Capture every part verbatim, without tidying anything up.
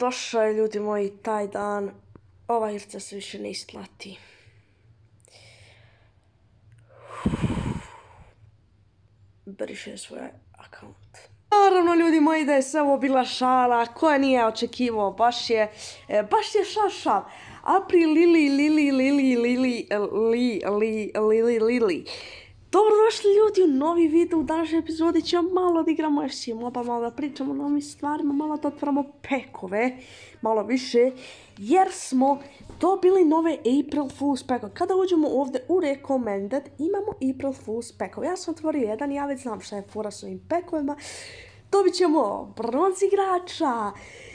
Došao je, ljudi moji, taj dan. Ova igrica se više ne isplati. Briše svoj akaunt. Naravno, ljudi moji, da je sve ovo bila šala, koja nije očekivao, baš je, baš je šal šal. April, Lili, Lili, Lili, Lili, Li, Li, Lili, Lili. Dobrodošli, ljudi, u novi video. U današnjoj epizodi ćemo malo da igramo F C Mobile, malo da pričamo o novim stvarima, malo da otvaramo pekove, malo više, jer smo dobili nove April Fool's pekove. Kada uđemo ovdje u Recommended, imamo April Fool's pekove. Ja sam otvorio jedan, ja već znam šta je fora s ovim pekovima. Dobit ćemo bronz igrača.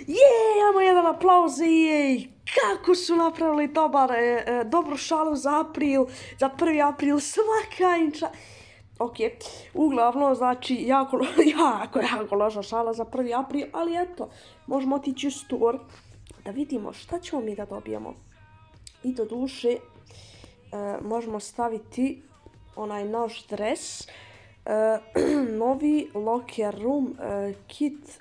Jej, imamo jedan aplauz, jej. Kako su napravili dobar, e, e, dobru šalu za april, za prvi april, svaka inča. Ok, uglavnom, znači, jako, jako, jako loša šala za prvi april, ali eto, možemo otići u store da vidimo šta ćemo mi da dobijemo. I do duše, e, možemo staviti onaj naš dres, e, novi locker room e, kit.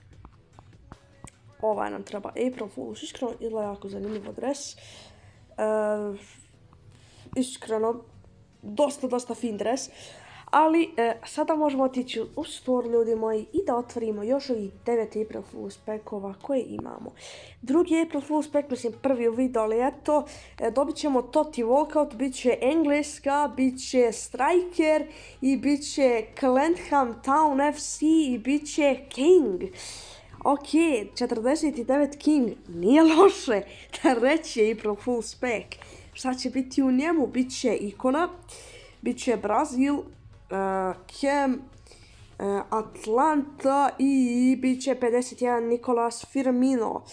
Ovaj nam treba April Fool's, iskreno izgleda jako zanimljiv dres. E, iskreno, dosta, dosta fin dres. Ali e, sada možemo otići u store, ljudi moji, i da otvorimo još ovih devet April Fool's pekova koje imamo. Drugi April Fool's pek, mislim prvi u video, ali eto, e, dobit ćemo Toti Walkout, bit će Engleska, bit će Striker i bit će Clantham Town F C i bit će King. Ok, četrdeset devet King, nije loše, treći je April Fool's pack. Šta će biti u njemu? Biće ikona, biće Brazil, uh, Cam, uh, Atlanta i biće pedeset jedan Nicolas Firmino.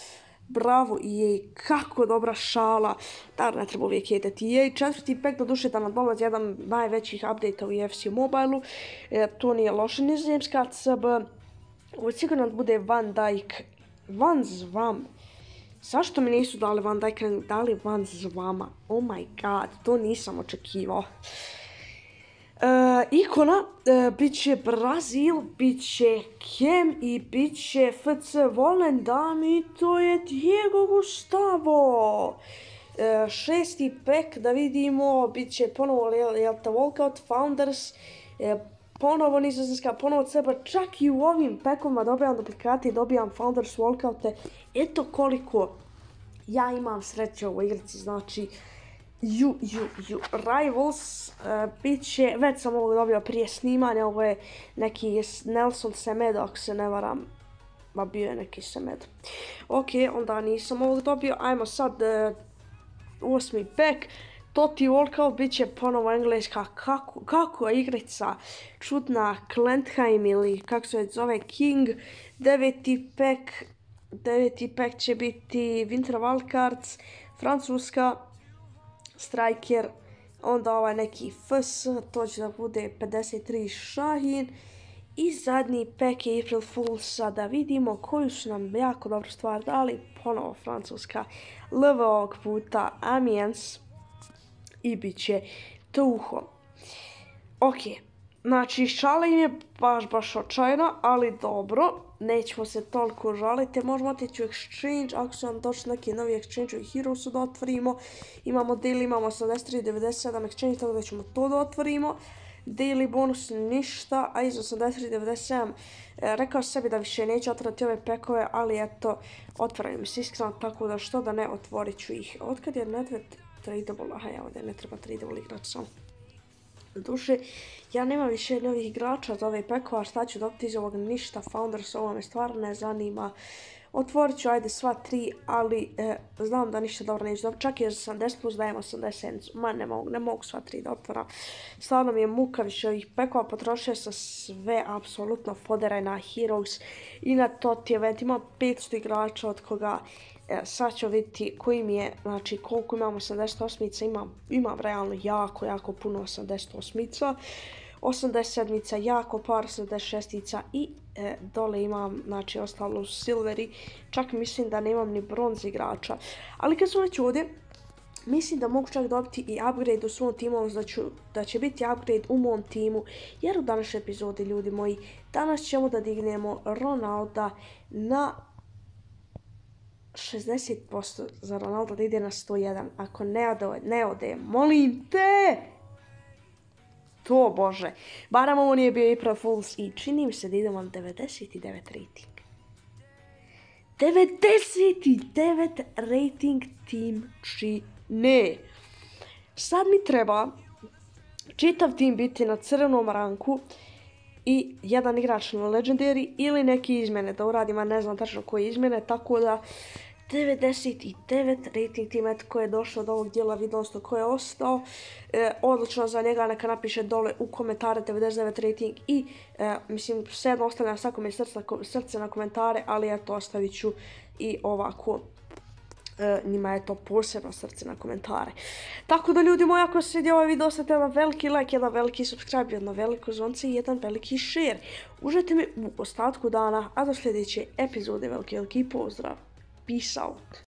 Bravo, E A, kako dobra šala. Da, ne treba uvijek jedeti E A. Četvrti pack, do duše da nam dolazi jedan najvećih update u F C Mobile-u. E, to nije loše, nizozemska C B. Ovo sigurno bude Van Dijk, Van Zvam. Zašto mi nisu dali Van Dijk, dali Van Zvama? Oh my god, to nisam očekivao. Uh, ikona, uh, bit će Brazil, bit će Kem i bit će F C Volendam i to je Diego Gustavo. Uh, šesti pack, da vidimo, bit će ponovo Jelta Walkout, Founders, uh, ponovo nizozemska, ponovo C B, čak i u ovim pekovima dobijam duplikate i dobijam Founders Walkoute. Eto koliko ja imam sreće u ovoj igrici, znači ju, ju, ju. Rivals, uh, bit će, već sam ovo dobio prije snimanja, ovo je neki Nelson Semedo, ako se ne varam, ba bio je neki Semedo. Ok, onda nisam ovo dobio, ajmo sad uh, osmi pack. Toti Walkout, bit će ponovo engleska, kako, kako je igrica čudna, Clantham ili kako se zove King. Deveti pack, deveti pack će biti Winter Wildcards, francuska, Striker, onda ovaj neki F S, to će da bude pedeset tri Šahin. I zadnji pack je April Fool's, da vidimo koju su nam jako dobru stvar dali, ponovo francuska, L V ovog puta Amiens. I bit će Tuho. Ok, znači šala im je baš baš očajna, ali dobro, nećemo se toliko žaliti, možemo otići u Exchange, ako su nam došli neki novi Exchange u Heroesu da otvorimo, imamo daily, imamo osamdeset tri devedeset sedam Exchange, tako da ćemo to da otvorimo. Daily bonus ništa, a iz osamdeset tri devedeset sedam e, rekao sebi da više neću otvoriti ove pekove, ali eto, otvaraju mi se iskreno, tako da što da ne, otvorit ću ih. Otkad je Nedved tradable, aha, ja ovdje ne treba tradable igrač sam. Duše, ja nemam više novih igrača za ove pekova, šta ću dobiti iz ovog ništa, Founders, ovo me stvarno ne zanima. Otvorit ću, ajde, sva tri, ali e, znam da ništa dobro neću dobiti, čak i za sedamdeset plus dajem osamdeset, ma ne mogu, ne mogu sva tri da otvoram. Stvarno mi je muka više ovih pekova, potrošio sam sve, apsolutno, fodera na Heroes i na Toti event, imam petsto igrača od koga E, sad ću vidjeti koji mi je, znači koliko imam osamdeset osmica, imam, imam realno jako, jako puno osamdeset osmica, osamdeset sedmica, jako par osamdeset šestica i e, dole imam, znači ostalo silveri, čak mislim da nemam ni bronz igrača, ali kad sam već ovdje, mislim da mogu čak dobiti i upgrade u svom timu, da, ću, da će biti upgrade u mom timu, jer u današnjoj epizodi, ljudi moji, danas ćemo da dignemo Ronalda na šezdeset posto za Ronaldo da ide na sto jedan. Ako ne ode, ne ode, molim te! To bože. Baram ovo nije bio April Fools i čini mi se da idemo na devedeset devet rating. devedeset devet rating tim čini. Sad mi treba čitav tim biti na crvenom ranku i jedan igrač na Legendary ili neke izmjene da uradim, a ne znam tačno koje izmjene, tako da devedeset devet rating tim, eto ko je došao do ovog dijela videa, odnosno ko je ostao, e, odlično za njega, neka napiše dole u komentare devedeset devet rating i e, mislim svejedno ostavljam svakome srce, srce na komentare, ali eto ostavit ću i ovako. E, njima je to posebno srce na komentare. Tako da ljudi moji, ako se svidio ovaj video, ostavite jedan veliki like, jedan veliki subscribe, jedno veliko zvonce i jedan veliki share. Uživajte mi u ostatku dana, a do sljedeće epizode veliki veliki pozdrav. Peace out.